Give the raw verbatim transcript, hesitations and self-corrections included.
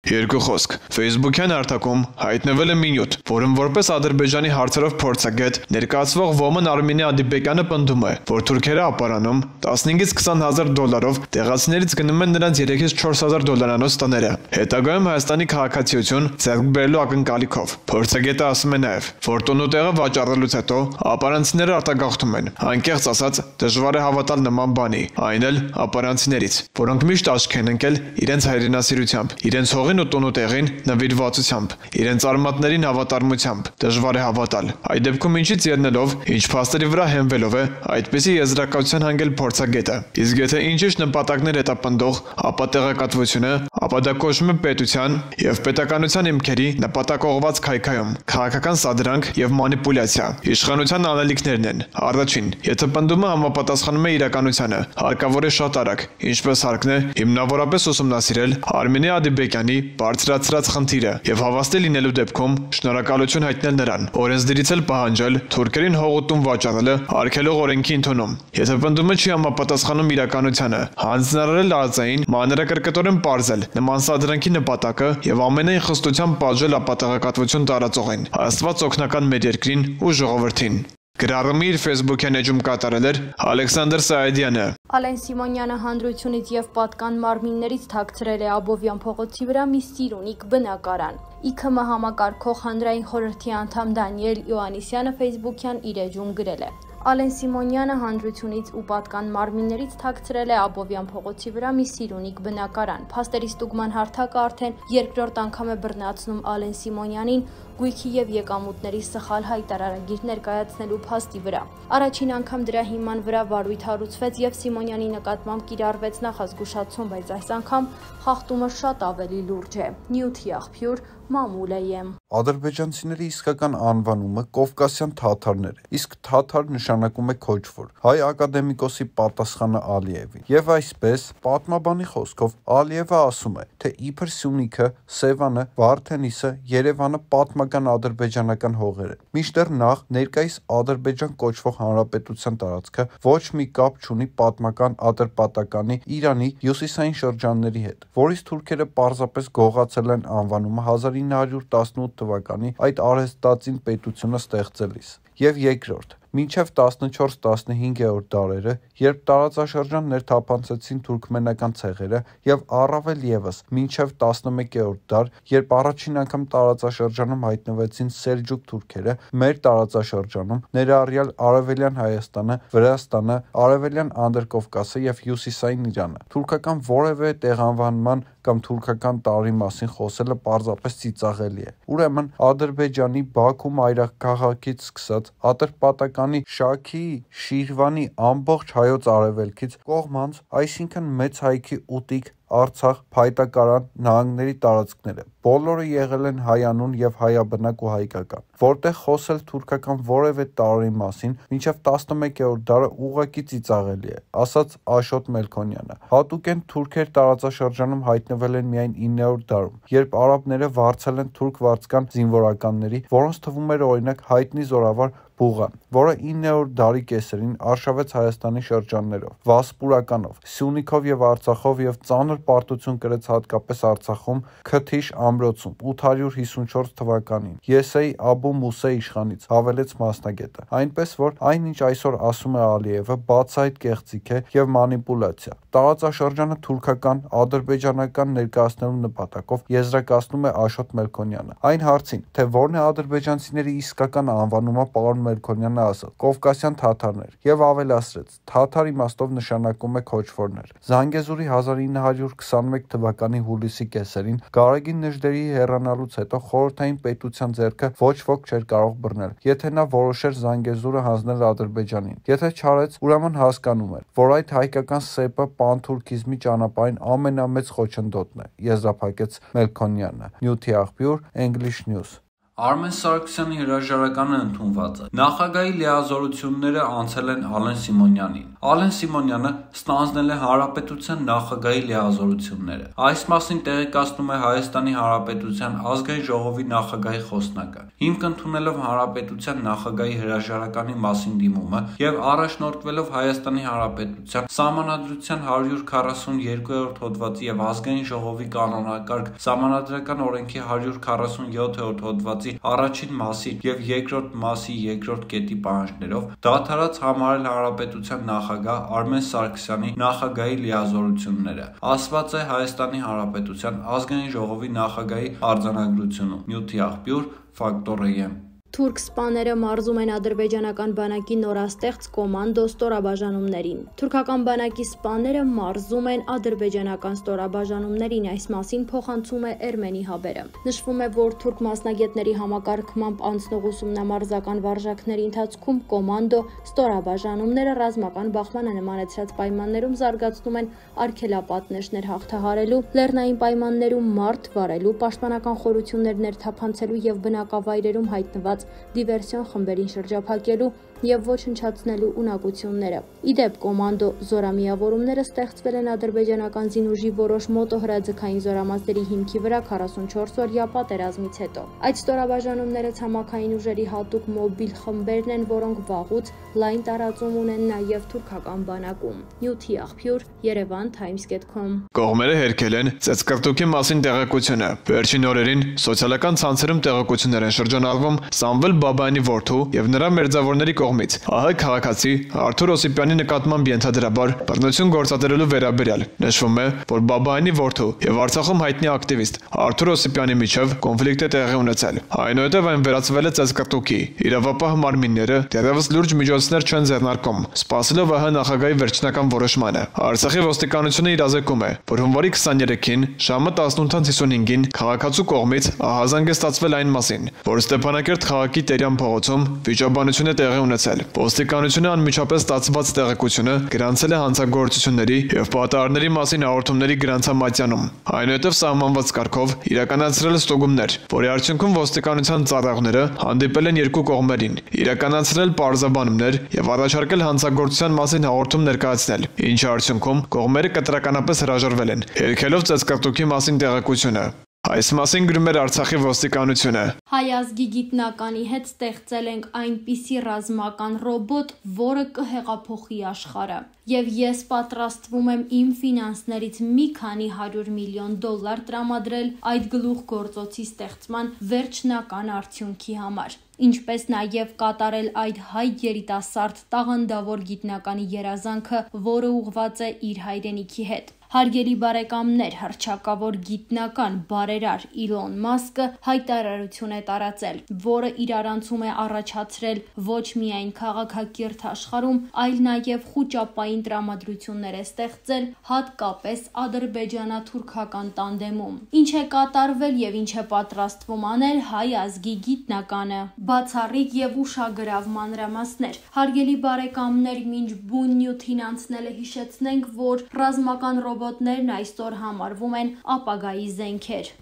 Երկու խոսք. Facebook-յան հարթակում հայտնվել է մի նյութ, որում որպես Ադրբեջանի հարցերով փորձագետ ներկայացվող Ոմն Արմինե Ադիբեկյանը պնդում է, որ թուրքերը ապարանում տասնհինգից քսան հազար դոլարով տեղացիներից գնում են նրանց երեքից չորս հազար դոլարանոց տները, հետագայում Հայաստանի քաղաքացիություն ձեռք բերելու ակնկալիքով։ Փորձագետը ասում է նաև, որ տոնուտեղը վաճառելուց հետո ապարանցիները արտագաղթում են, անկեղծ ասած դժվար է հավատալ նման բանի, այն էլ ապարանցիներից, որոնք միշտ աչք են ընկել իրենց հայրենասիրությամբ, իրենց հողին ու տոնուտեղին նվիրվածությամբ, իրենց արմատներին հավատարմությամբ, դժվար է հավատալ։ Այդ դեպքում ինչից ելնելով, ինչ փաստերի վրա հենվելով է այդպիսի եզրակացության հանգել փորձագետը։ Իսկ եթե ինչ-ինչ նպատակներ հետապնդող, ապա տեղեկատվությունը, ապա դա կոչվում է պետության եւ պետականության հիմքերի նպատակողված քայքայում, քաղաքական սադրանք եւ մանիպուլյացիա։ Իշխանության անելիքներն են։ Առաջին, եթե պնդումը համապատասխանում է իրականությանը, հարկավոր է շատ արագ, ինչպես հարկն է, հիմնավորապես ուսումնասիրել Արմինե Ադիբեկյանի բարձրացրած խնդիրը եւ հավաստի լինելու դեպքում շնորհակալություն հայտնել նրան, օրենսդիրից էլ պահանջել թուրքերին հողուտում վաճառելը արգելող օրենքի ընդունում։ Եթե պնդումը չի համապատասխանում իրականությանը, հանձնարարել արծային մանրակրկտորեն պարզել նման սադրանքի նպատակը եւ ամենայն խստությամբ պատժել ապատեղեկատվություն տարածողին, Աստված օգնական մեր երկրին ու ժողովրդին։ Գրառումի իր Facebook-յան էջում կատարել էր Ալեքսանդր Սայեդյանը։ Ալեն Սիմոնյանը հանրությունից եւ պատկան մարմիններից թաքցրել է Աբովյան փողոցի վրա մի սիրունիկ բնակարան։ ի քը էմ համակարգող հանրային խորհրդի անդամ Դանիել Իոաննիսյանը Facebook-յան իր էջում գրել է. Ալեն Սիմոնյանը հանրությունից ու պատկան մարմիններից թաքցրել է Աբովյան փողոցի վրա մի սիրունիկ բնակարան։ Փաստերի ստուգման հարթակը արդեն երկրորդ անգամ է բռնացնում Ալեն Սիմոնյանին գույքի եւ եկամուտների սխալ հայտարարագիր ներկայացնելու փաստի վրա։ Առաջին անգամ դրա հիման վրա վարույթ հարուցվեց եւ Սիմոնյանի նկատմամբ կիրառվեց նախազգուշացում, բայց այս անգամ խախտումը շատ ավելի լուրջ է։ Նյութի աղբյուր Մամուլեյեմ։ Ադրբեջանցիների իսկական անվանումը Կովկասյան թաթարներ է, իսկ թաթար նշանակում է քոչվոր, հայ ակադեմիկոսի պատասխանը Ալիևին։ Եվ այսպես, պատմաբանի խոսքով Ալիևը ասում է, թե իբր Սյունիքը, Սևանը, Վարդենիսը, Երևանը պատմական ադրբեջանական հողեր են։ Մինչդեռ նախ ներկայիս Ադրբեջան կոչվող հանրապետության տարածքը ոչ մի կապ չունի պատմական Ադրբատականի Իրանի հյուսիսային շրջանների հետ, որից թուրքերը պարզապես գողացել են անվանումը հազար ինը հարյուր տասնութ թվականի այդ արհեստածին պետությունը ստեղծելիս։ Եւ երկրորդ, մինչև տասնչորս տասնհինգերորդ դարերը, երբ տարածաշրջան ներթափանցեցին թուրքմենական ցեղերը, եւ առավել եւս մինչև տասնմեկերորդ դար, երբ առաջին անգամ տարածաշրջանում հայտնվեցին սելջուկ թուրքերը, մեր տարածաշրջանում, ներառյալ Արևելյան Հայաստանը, Վրաստանը, Արևելյան Անդրկովկասը եւ Հյուսիսային Իրանը, թուրքական որևէ տեղանվանման կամ թուրքական տարի մասին խոսելը պարզապես ծիծաղելի է։ Ուրեմն Ադրբեջանի Բաքու մայրաքաղաքից սկսած Ատրպատականի Շաքի, Շիրվանի ամբողջ հայոց արևելքից կողմանց, այսինքն մեծ հայքի ուտիկ Արցախ, Փայտակարան, նահանգների տարածքները բոլորը եղել են հայանուն եւ հայաբնակ ու հայկական, որտեղ խոսել թուրքական որևէ տարի մասին մինչեւ տասնմեկերորդ դարը ուղղակի ծիծաղելի է, ասաց Աշոտ Մելքոնյանը։ Հատուկեն թուրքեր տարածաշրջանում հայտնվել են միայն իններորդ դարում, երբ արաբները վարձել են թուրք վարձկան զինվորականների, որոնց թվում էր օրինակ հայտնի զորավար Բուղան, որը իններորդ դարի կեսերին արշավեց Հայաստանի շրջաններով, Վասպուրականով, Սյունիքով եւ Արցախով եւ ծանր պարտություն կրեց հատկապես Արցախում Քթիշ ամրոցում ութ հարյուր հիսունչորս թվականին Եսեյ Աբու Մուսե իշխանից, հավելեց մասնագետը։ Այնպես որ այնինչ այսօր ասում է Ալիևը, բացահայտ կեղծիք է եւ մանիպուլյացիա։ Տարածաշրջանը թուրքական, ադրբեջանական ներկայացնելու նպատակով եզրակացնում է Աշոտ Մելքոնյանը։ Այն հարցին, թե որն է ադրբեջանցիների իսկական անվանումը, պարոն Մելքոնյանը ասաց. Կովկասյան թաթարներ եւ ավելացրեց. թաթար իմաստով նշանակում է քոչվորներ։ Զանգեզուրի հազար ինը հարյուր քսանմեկ թվականի հուլիսի կեսերին Գարեգին Նժդեհի հեռանալուց հետո խորհրդային պետության ձեռքը ոչ ոք չէր կարող բռնել, եթե նա որոշեր Զանգեզուրը հանձնել Ադրբեջանին։ Եթե չարեց, ուրեմն հասկանում էր, որ այդ հայկական սեպը պանթուրքիզմի ճանապարհին ամենամեծ խոչընդոտն է, եզրափակեց Մելքոնյանը։ Նյութի աղբյուր English News։ Արմեն Սարգսյանի հրաժարականը ընդունված է։ Նախագահի լիազորությունները անցել են Ալեն Սիմոնյանին։ Ալեն Սիմոնյանը ստանձնել է Հանրապետության նախագահի լիազորությունները։ Այս մասին տեղեկացնում է Հայաստանի Հանրապետության ազգային ժողովի նախագահի խոսնակը։ Հիմք ընդունելով Հանրապետության նախագահի հրաժարականի մասին դիմումը եւ առաջնորդվելով Հայաստանի Հանրապետության Սահմանադրության հարյուր քառասունյոթ հոդվածի եւ ազգային ժողովի կանոնակարգ Սահմանադրական օրենքի հարյուր քառասունյոթ հոդվածի առաջին մասի եւ երկրորդ մասի երկրորդ կետի պահանջներով դադարած համարել Հանրապետության նախագահ Արմեն Սարգսյանի նախագահի լիազորությունները, ասված է Հայաստանի Հանրապետության ազգային ժողովի նախագահի արձանագրությունում։ Նյութի աղբյուր Ֆակտորիա։ Թուրք սպաները մարզում են ադրբեջանական բանակի նորաստեղծ կոմանդո ստորաբաժանումներին։ Թուրքական բանակի սպաները մարզում են ադրբեջանական ստորաբաժանումներին, այս մասին փոխանցում է Էրմենի հաբերը։ Նշվում է, որ թուրք մասնագետների համակարգմամբ անցնող ուսումնամարզական վարժակների ընթացքում կոմանդո ստորաբաժանումները ռազմական բախմանը նմանեցրած պայմաններում զարգացնում են արգելապատնեշներ հաղթահարելու, լեռնային պայմաններում մարդ վարելու, պաշտպանական խորություններ ներթափանցելու եւ բնակավայրերում հայտնված դիվերսիոն խմբերին շրջափակելու եւ ոչնչացնելու ունակությունները։ Իդեպ կոմանդո զորամիավորումները ստեղծվել են ադրբեջանական զինուժի որոշ մոտոհրաձգային զորամասերի հիմքի վրա քառասունչորս օրյա պատերազմից հետո։ Այդ ստորաբաժանումները ցամաքային ուժերի հատուկ մոբիլ խմբերն են, որոնք վաղուց լայն տարածում ունեն նաեւ թուրքական բանակում։ Նյութի աղբյուր Երևան Times dot com։ Կողմերը հերքել են ծեծկռտուքի մասին տեղեկությունը։ Վերջին օրերին սոցիալական ցանցերում տեղեկություններ են շրջանառվում Սամվել Բաբայանի որդու եւ նրա մերձավորների կողմից ԱՀ քաղաքացի Արթուր Օսիպյանի նկատմամբ ենթադրաբար բռնություն գործադրելու վերաբերյալ։ Նշվում է, որ Բաբայանի որդու եւ Արցախում հայտնի ակտիվիստ Արթուր Օսիպյանի միջև կոնֆլիկտ է տեղի ունեցել։ Այնուհետև այն վերածվել է ծեծկռտուքի։ Իրավապահ մարմինները դեռևս լուրջ միջոցներ չեն ձեռնարկում, սպասելով ԱՀ նախագահի վերջնական որոշմանը։ Արցախի ոստիկանությունը իրազեկում է, որ հունվարի քսաներեքին ժամը տասնութ հինգին քաղաքացու կողմից ահազանգ է ստացվել այն մասին, որ Ստեփանակերտ քաղաքի Տերյան փողոցում վիճաբանություն է տեղի ունեցել։ Ոստիկանությունը անմիջապես ստացված տեղեկությունը գրանցել է հանցագործությունների եւ պատահարների մասին հաղորդումների գրանցամատյանում։ Այնուհետև սահմանված կարգով իրականացրել ստուգումներ, որի արդյունքում ոստիկանության ծառայողները հանդիպել են երկու կողմերին, իրականացրել պարզաբանումներ եւ առաջարկել հանցագործության մասին հաղորդում ներկայացնել, ինչի արդյունքում կողմերը կտրականապես հրաժարվել են, հերքելով ծեծկռտուքի մասին տեղեկությունը։ Այս մասին գրում էր Արցախի ոստիկանությունը։ Հայ ազգի գիտնականի հետ ստեղծել ենք այնպիսի ռազմական ռոբոտ, որը կհեղափոխի աշխարհը։ Եվ ես պատրաստվում եմ իմ ֆինանսներից մի քանի հարյուր միլիոն դոլար տրամադրել այդ գլուխգործոցի ստեղծման վերջնական արդյունքի համար, ինչպես նաև կատարել այդ հայ երիտասարդ տաղանդավոր գիտնականի երազանքը, որը ուղղված է իր հայրենիքի հետ։ Հարգելի բարեկամներ, հռչակավոր գիտնական բարերար Իլոն Մասկը հայտարարություն է տարածել, որը իրարանցում է առաջացրել ոչ միայն քաղաքակիրթ աշխարհում, այլ նաև խուճապային տրամադրություններ է ստեղծել, հատկապես ադրբեջանա-թուրքական տանդեմում։ Ինչ է կատարվել եւ ինչ է պատրաստվում անել հայ ազգի գիտնականը։ Բացառիկ եւ ուշագրավ մանրամասներ։ Հարգելի բարեկամներ, մինչ բուն նյութին անցնելը հիշեցնենք, որ ռազմական ռոբոտներն այսօր համարվում են ապագայի զենքեր։